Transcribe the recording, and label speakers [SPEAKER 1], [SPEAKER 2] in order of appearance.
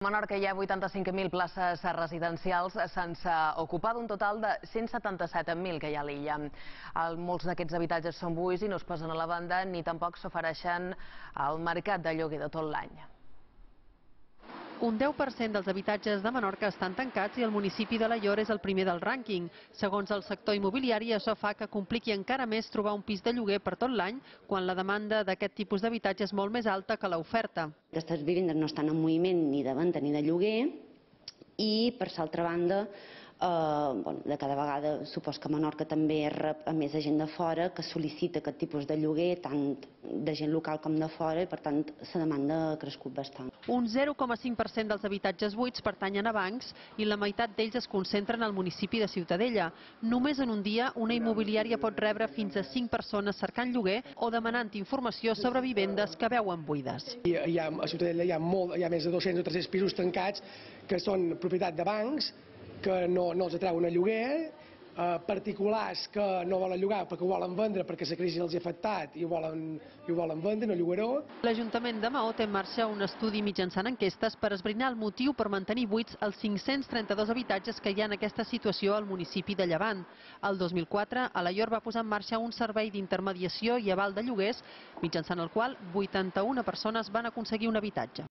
[SPEAKER 1] A Menorca hi ha 85.000 places residencials sense ocupar, d'un total de 177.000 que hi ha a l'illa. Molts d'aquests habitatges són buits i no es posen a la venda ni tampoc s'ofereixen al mercat de lloguer de tot l'any.
[SPEAKER 2] Un 10% dels habitatges de Menorca estan tancats i el municipi d'Alaior és el primer del rànquing. Segons el sector immobiliari, això fa que compliqui encara més trobar un pis de lloguer per tot l'any, quan la demanda d'aquest tipus d'habitatge és molt més alta que l'oferta.
[SPEAKER 3] Aquestes vivendes no estan en moviment ni de venda ni de lloguer i, per l'altra banda, de cada vegada supos que Menorca també rep a més gent de fora que sol·licita aquest tipus de lloguer, tant de gent local com de fora, i per tant la demanda ha crescut bastant.
[SPEAKER 2] Un 0,5% dels habitatges buits pertanyen a bancs i la meitat d'ells es concentren al municipi de Ciutadella. Només en un dia una immobiliària pot rebre fins a 5 persones cercant lloguer o demanant informació sobre vivendes que veuen buides.
[SPEAKER 4] A Ciutadella hi ha més de 200 o 300 pisos tancats que són propietat de bancs, que no els atreuen a lloguer, particulars que no volen llogar perquè ho volen vendre perquè la crisi els ha afectat i ho volen vendre, no llogaró.
[SPEAKER 2] L'Ajuntament de Maó té en marxa un estudi mitjançant enquestes per esbrinar el motiu per mantenir buits els 532 habitatges que hi ha en aquesta situació al municipi de Llevant. El 2004, Alaior va posar en marxa un servei d'intermediació i aval de lloguers, mitjançant el qual 81 persones van aconseguir un habitatge.